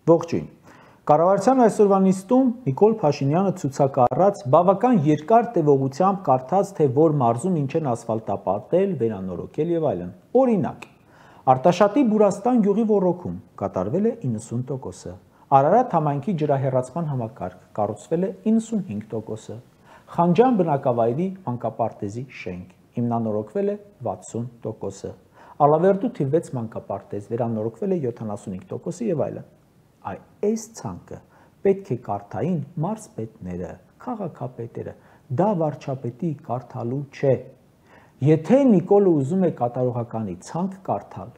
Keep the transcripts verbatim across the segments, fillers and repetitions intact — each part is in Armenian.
Ողջույն։ Կառավարության այսօրվա նիստում Նիկոլ Փաշինյանը ցուցակառած բավական երկար տևողությամբ կարդաց, թե որ մարզում ինչ են ասֆալտապատել, վերանորոգել եւ այլն։ Օրինակ, Արտաշատի Բուրաստան գյուղի ոռոգում կատարվել է իննսուն տոկոսը, Արարատ համայնքի ջրահեռացման համակարգ կառուցվել է իննսունհինգ տոկոսը, Խանջան բնակավայրի մանկապարտեզի շենք հիմնանորոգվել է վաթսուն տոկոսը, Ալավերդու թիվ վեց մանկապարտեզ վերանորոգվել է յոթանասունհինգ տոկոսը եւ այլն։ Այ այս ցանկը պետք է կարդային մարզպետները, քաղաքապետերը, դա վարչապետի կարդալու չէ։ Եթե Նիկոլը ուզում է կատարողականի ցանկ կարդալ,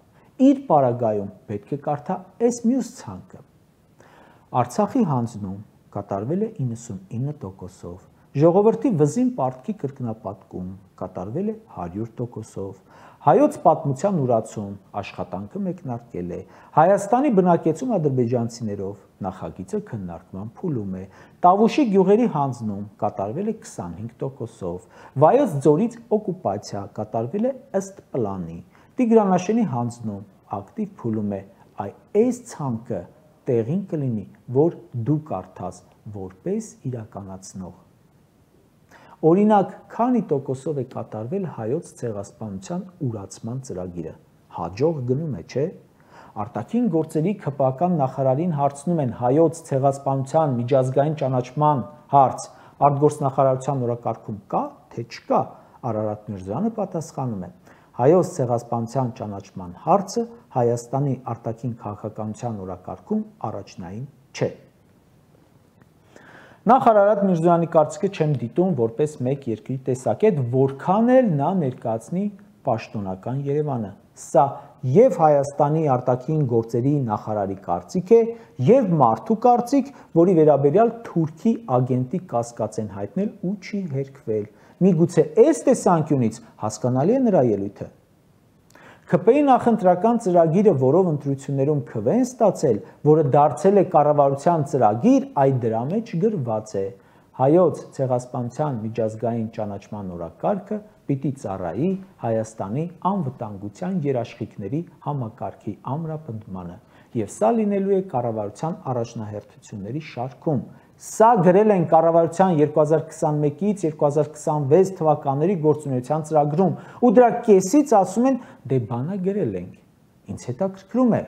իր պարագայում պետք է կարդա այս մյուս ցանկը։ Արցախի հանձնում կատարվել է իննսունինը տոկոսով, ժողովրդի վզին պարտքի կրկնապատկում կատարվել է հարյուր տոկոսով, հայոց պատմության ուրացում աշխատանքը մեկնարկել է, Հայաստանի բնակեցում ադրբեջանցիներով նախագիծը քննարկման փուլում է, Տավուշի գյուղերի հանձնում կատարվել է քսանհինգ տոկոսով, Վայոց ձորից օկուպացիա կատարվել է ըստ պլանի, Տիգրանաշենի հանձնում ակտիվ փուլում է, այ այս ցանկը տեղին կլինի, որ դու կարդաս որպես իրականացնող։ Օրինակ, քանի տոկոսով է կատարվել հայոց ցեղասպանության ուրացման ծրագիրը, հաջող գնում է, չէ՞։ Արտաքին գործերի ՔՊԱ-ական նախարարին հարցնում են հայոց ցեղասպանության միջազգային ճանաչման հարց, արտգործնախարարության օրակարգում կա, թե չկա, Արարատ Միրզոյանը պատասխանում է. հայոց ցեղասպանության ճանաչման հարցը Հայաստանի արտաքին քաղաքականության օրակարգում առաջնային չէ։ Նախ Արարատ Միրզոյանի կարծիքը չեմ դիտում որպես մեկ երկրի տեսակետ, որքան էլ նա ներկայացնի պաշտոնական Երևանը։ Սա եւ Հայաստանի արտաքին գործերի նախարարի կարծիք է, եւ մարդու կարծիք, որի վերաբերյալ Թուրքի ագենտի կասկած են հայտնել ու չի հերքվել։ Միգուցե այս տեսանկյունից հասկանալի է նրա ելույթը։ ՔՊ-ի նախընտրական ծրագիրը, որով ընտրություններում քվ են ստացել, որը դարձել է կառավարության ծրագիր, այդ դրա մեջ գրված է. հայոց ցեղասպանության միջազգային ճանաչման օրակարգը պիտի ծառայի Հայաստանի անվտանգության երաշխիքների համակարգի ամրապնդմանը, եւ սա լինելու է կառավարության առաջնահերթությունների շարքում։ Սա գրել են կառավարության երկու հազար քսանմեկից երկու հազար քսանվեց թվականների գործունեության ծրագրում, ու դրա կեսից ասում են, դե բանա գրել ենք։ Ինձ հետաքրքրում է,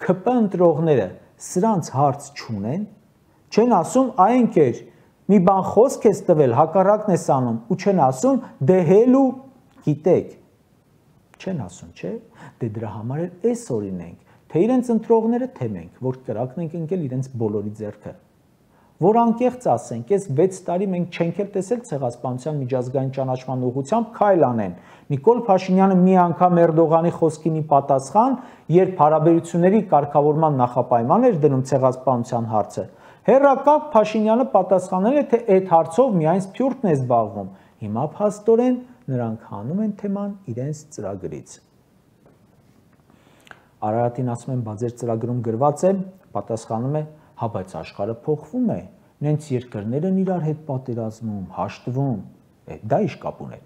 ՔՊ ընտրողները սրանց հարց չունեն, չեն ասում, այ ընկեր, մի բան խոսք ես տվել, հակառակն ես անում, ու չեն ասում, դե հել ու գիտեք։ Չեն ասում, չէ՞։ Դե դրա համար էլ էս օրինենք, թե իրենց ընտրողները, թե մենք, որ կրակն ենք ընկել իրենց բոլորի ձեռքը։ Որ անկեղծ ասենք, այս վեց տարի մենք չենք էլ տեսել ցեղասպանության միջազգային ճանաչման ուղղությամբ քայլ անեն։ Նիկոլ Փաշինյանը մի անգամ Էրդողանի խոսքինի պատասխան, երբ հարաբերությունների կարգավորման նախապայման էր դնում ցեղասպանության հարցը, հերրակապ Փաշինյանը պատասխանել է, թե այդ հարցով միայն սփյուռքն է զբաղվում։ Հիմա փաստորեն նրանք հանում են թեման իրենց ծրագրից։ Արարատին ասում են, բա ձեր ծրագրում գրված է, պատասխանում է, հա բայց աշխարհը փոխվում է, նենց երկրներ են իրար հետ պատերազմում, հաշտվում, է դա ինչ կապ ունի։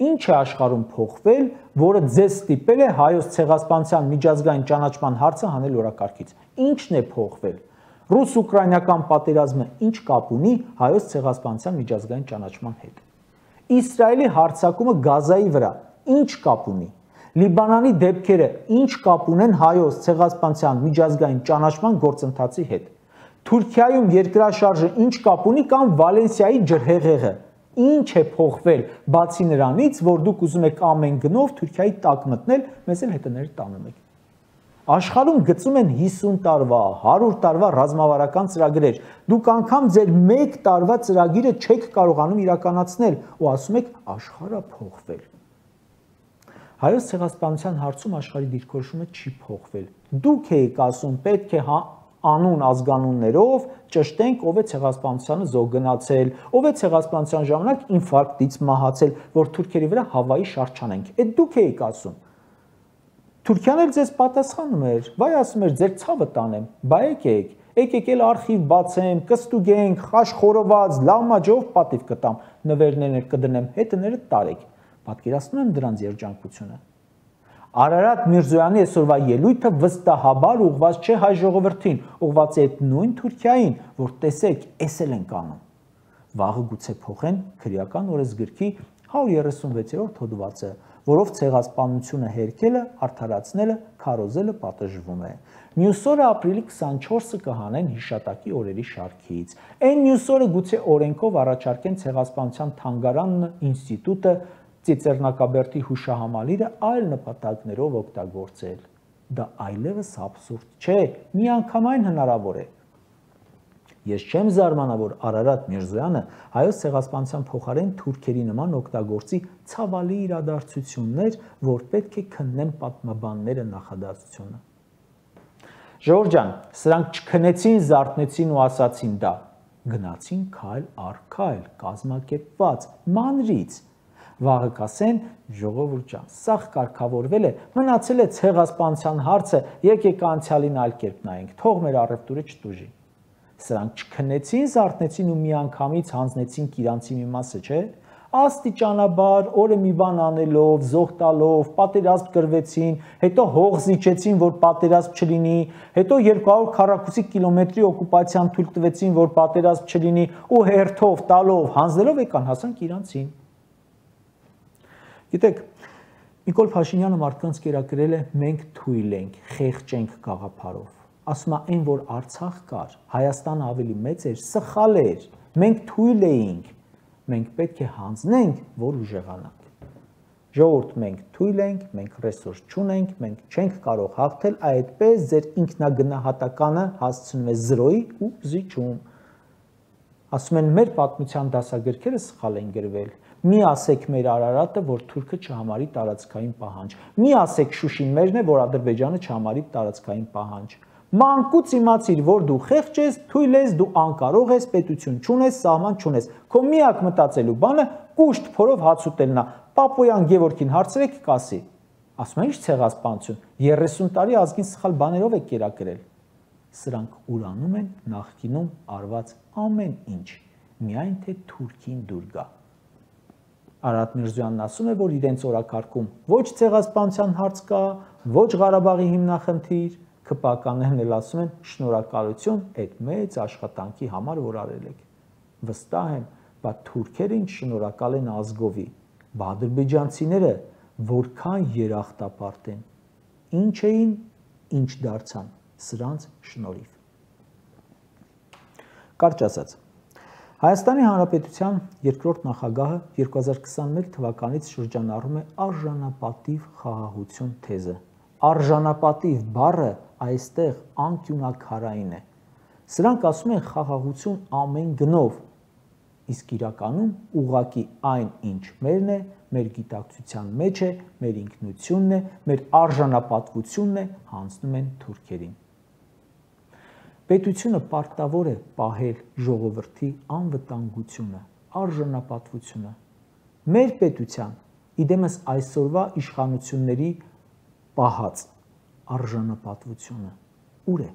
Ինչ է աշխարհում փոխվել, որը ձեզ ստիպել է հայոց ցեղասպանության միջազգային ճանաչման հարցը հանել օրակարգից։ Ինչն է փոխվել։ Ռուս-ուկրաինական պատերազմը ինչ կապ ունի հայոց ցեղասպանության միջազգային ճանաչման հետ։ Իսրայելի հարձակումը Գազայի վրա ինչ կապ ունի։ Լիբանանի դեպքերը ինչ կապ ունեն հայոց ցեղասպանության միջազգային ճանաչման գործընթացի հետ։ Թուրքիայում երկրաշարժը ինչ կապ ունի կամ Վալենսիայի ջրհեղեղը։ Ինչ է փոխվել, բացի նրանից, որ դուք ուզում եք ամեն գնով Թուրքիայի տակ մտնել, մեզ էլ հետները տանում եք։ Աշխարհում գծում են հիսուն տարվա, հարյուր տարվա ռազմավարական ծրագրեր։ Դուք անգամ ձեր մեկ տարվա ծրագիրը չեք կարողանում իրականացնել ու ասում եք աշխարհը փոխվել։ Հայոց ցեղասպանության հարցում աշխարհի դիրքորոշումը չի փոխվել։ Դուք եք ասում, պետք է անուն ազգանուններով ճշտենք, ով է ցեղասպանությանը զոհ գնացել, ով է ցեղասպանության ժամանակ ինֆարկտից մահացել, որ թուրքերի վրա Հավայի շարժանենք։ Այդ դուք եք ասում։ Թուրքիան էլ ձեզ պատասխանում էր, վայ ասում էր, ձեր ցավը տանեմ, բա եկեք, եկեք էլ արխիվ բացեմ, կստուգենք, խաշխորոված, լավ մաջով պատիվ կտամ, նվերներ կդնեմ, հետները տարեք։ Պատկերացնում եմ դրանց երջանկությունը։ Արարատ Միրզոյանի այսօրվա ելույթը վստահաբար ուղղված չէ հայ ժողովրդին, ուղղված է այդ նույն Թուրքիային, որ տեսեք, էս էլ ենք անում։ Վաղը գուցե փոխեն քրեական օրենսգրքի հարյուր երեսունվեցերորդ հոդվածը, որով ցեղասպանությունը հերքելը, արդարացնելը, քարոզելը պատժվում է։ Մյուս օրը ապրիլի քսանչորսը կհանեն հիշատակի օրերի շարքից։ Այն մյուս օրը գուցե օրենքով առաջարկեն ցեղասպանության թանգարանն, ինստիտուտը, Ծիծեռնակաբերդի հուշահամալիրը այլ նպատակներով օգտագործել։ Դա այլևս աբսուրդ չէ, միանգամայն հնարավոր է։ Ես չեմ զարմանա, որ Արարատ Միրզոյանը հայոց ցեղասպանության փոխարեն թուրքերի նման օգտագործի ցավալի իրադարձություններ, որ պետք է քննեն պատմաբանները նախադասությունը։ Ժողովուրդ ջան, սրանք չքնեցին, զարթնեցին ու ասացին դա։ Գնացին քայլ առ քայլ, կազմակերպված, մանրից։ Վաղը կասեն, ժողովուրդ ջան, սաղ կարգավորվել է, մնացել է ցեղասպանության հարցը, եկեք անցյալին այլ կերպ նայենք, թող մեր առևտուրը չտուժի։ Սրանք չքնեցին, զարթնեցին ու միանգամից հանձնեցին իրանցի մի մասը, չէ՞։ Աստիճանաբար, օրը մի բան անելով, զոհ տալով, պատերազմ կրվեցին, հետո հող զիջեցին, որ պատերազմ չլինի, հետո երկու հարյուր քառակուսի կիլոմետրի օկուպացիան թույլ տվեցին, որ պատերազմ չլինի, ու հերթով տալով, հանձնելով եկան հասանք իրանցին։ Գիտեք, Նիկոլ Փաշինյանը մարդկանց կերակրել է մենք թույլ ենք, խեղճենք գաղափարով։ Ասում է այն, որ Արցախ կար, Հայաստանը ավելի մեծ էր, սխալ էր, մենք թույլ էինք, մենք պետք է հանձնենք, որ ուժեղանանք։ Ժողովուրդ, մենք թույլ ենք, մենք ռեսուրս չունենք, մենք չենք կարող հաղթել, այդպես ձեր ինքնագնահատականը հասցնում է զրոյի ու զիջում։ Ասում են մեր պատմության դասագրքերը սխալ են գրվել։ Մի ասեք մեր Արարատը, որ թուրքը չհամարի տարածքային պահանջ։ Մի ասեք Շուշին մերն է, որ Ադրբեջանը չհամարի տարածքային պահանջ։ Մանկուց իմացիր, որ դու խեղճ ես, թույլ ես, դու անկարող ես, պետություն չունես, սահման չունես։ Քո միակ մտածելու բանը կուշտ փորով հաց ուտելն է։ Պապոյան Գևորգին հարցրեք, կասի։ Ասում են, ի՞նչ ցեղասպանություն, երեսուն տարի ազգին սխալ բաներով է կերակրել։ Սրանք ուրանում են նախկինում արված ամեն ինչ, միայն թե թուրքին դուր գա։ Արարատ Միրզոյանն ասում է, որ իրենց օրակարգում ոչ ցեղասպանության հարց կա, ոչ Ղարաբաղի հիմնախնդիր, ՔՊԱ-ականներն էլ ասում են շնորհակալություն այդ մեծ աշխատանքի համար, որ արել եք։ Վստահ եմ, բայց թուրքերը ինչ շնորհակալ են ազգովի, բա ադրբեջանցիները որքան երախտապարտ են, ինչ էին, ինչ դարձան, սրանց շնորհիվ։ Կարճ ասած, Հայաստանի Հանրապետության երկրորդ նախագահը երկու հազար քսանմեկ թվականից շրջանառում է արժանապատիվ խաղաղություն թեզը։ Արժանապատիվ բառը այստեղ անկյունակարային է։ Սրանք ասում են խաղաղություն ամեն գնով, իսկ իրականում ուղղակի այն, ինչ մերն է, մեր գիտակցության մեջ է, մեր ինքնությունն է, մեր արժանապատվությունն է, հանձնում են թուրքերին։ Պետությունը պարտավոր է պահել ժողովրդի անվտանգությունը, արժանապատվությունը։ Մեր պետության, իդեմս այսօրվա իշխանությունների պահած արժանապատվությունը ուր է։